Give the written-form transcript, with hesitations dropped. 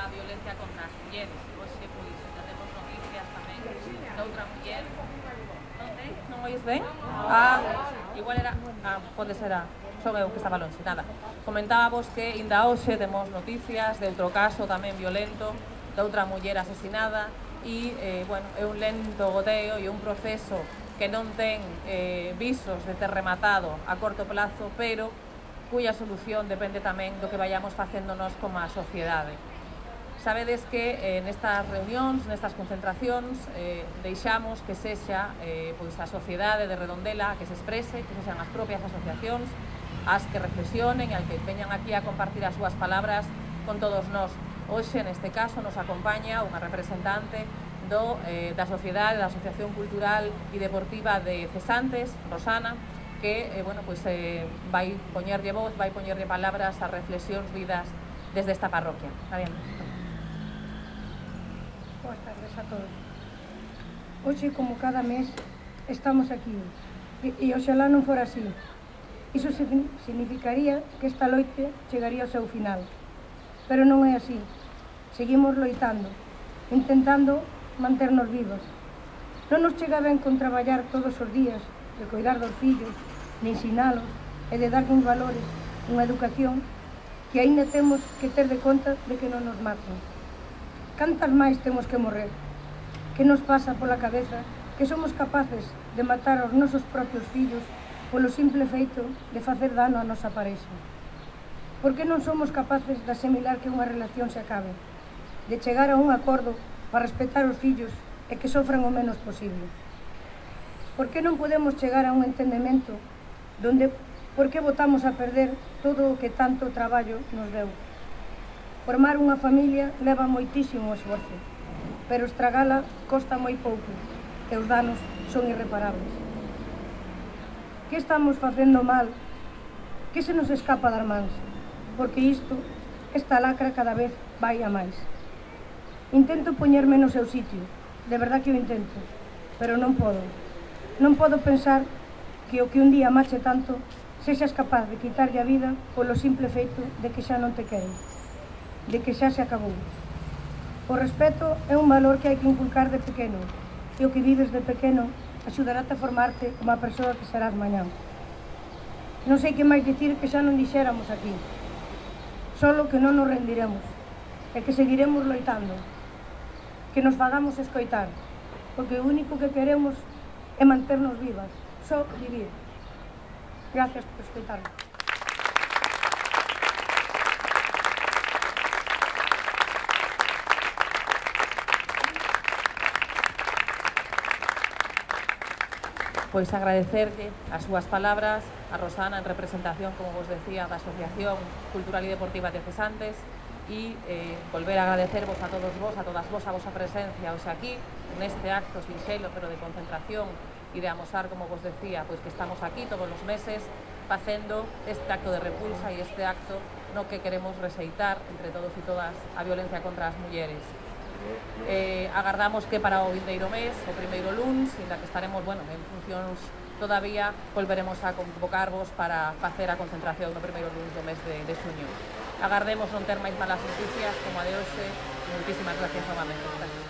a violencia contra as mulleres. Hoxe, pois, já temos noticias tamén de outra muller. Non sei? Non oís ben? Igual era... pode ser son eu que estaba longe, nada. Comentábamos que ainda hoxe temos noticias de outro caso tamén violento, de outra muller asesinada, e, bueno, é un lento goteo e un proceso que non ten visos de ter rematado a corto plazo, pero cuya solución depende tamén do que vayamos facéndonos como a sociedade. Sabedes que nestas reunións, nestas concentracións, deixamos que sexa pois a sociedade de Redondela que se exprese, que sexan as propias asociacións as que reflexionen e as que veñan aquí a compartir as súas palabras con todos nós. Hoxe, neste caso, nos acompaña unha representante da sociedade, da Asociación Cultural e Deportiva de Cesantes, Rosana, que bueno, pues, vai poñerlle voz, vai poñerlle palabras ás reflexións vidas desde esta parroquia. Está bien. Boas tardes a todos. Hoxe, como cada mes, estamos aquí. E oxalá non fora así. Iso significaría que esta loite chegaría ao seu final. Pero non é así. Seguimos loitando, intentando manternos vivos. Non nos chega ben con traballar todos os días, de cuidar dos fillos, de ensinalos e de darnos valores, unha educación que aínda temos que ter de conta de que non nos maten. Cantas máis temos que morrer? Que nos pasa pola cabeza que somos capaces de matar aos nosos propios fillos polo simple feito de facer dano á nosa parexa? Por que non somos capaces de asimilar que unha relación se acabe? De chegar a un acordo para respetar os fillos e que sofran o menos posible? Por que non podemos chegar a un entendemento donde por que botamos a perder todo o que tanto traballo nos deu? Formar unha familia leva moitísimo esforzo, pero estragala costa moi pouco e os danos son irreparables. Que estamos facendo mal? Que se nos escapa das mans? Porque esta lacra cada vez vai a máis. Intento poñerme no seu sitio, de verdad que o intento, pero non podo. Non podo pensar que o que un día mache tanto sexas capaz de quitarlle a vida polo simple feito de que xa non te queren, de que xa se acabou. O respeto é un valor que hai que inculcar de pequeno, e o que vives de pequeno axudarate a formarte como a persoa que serás mañán. Non sei que máis dicir que xa non dixéramos aquí, solo que non nos rendiremos, e que seguiremos loitando, que nos fagamos escoitar, porque o único que queremos é manternos vivas, só vivir. Gracias por escoitarme. Pois agradecerlle as súas palabras a Rosana en representación, como vos decía, da Asociación Cultural e Deportiva de Cesantes, e volver a agradecervos a todos vos, a todas vos, a vosa presencia hoxe aquí, neste acto sinxelo, pero de concentración e de amosar, como vos decía, pois que estamos aquí todos os meses facendo este acto de repulsa e este acto no que queremos rexeitar entre todos e todas a violencia contra as mulleres. Agardamos que para o vindeiro mes, o primeiro luns, ainda que estaremos, bueno, en funcións todavía, volveremos a convocarvos para facer a concentración no primeiro luns do mes de xuño. Agardemos non ter máis malas noticias como a de hoxe. Moitísimas gracias novamente. Gracias.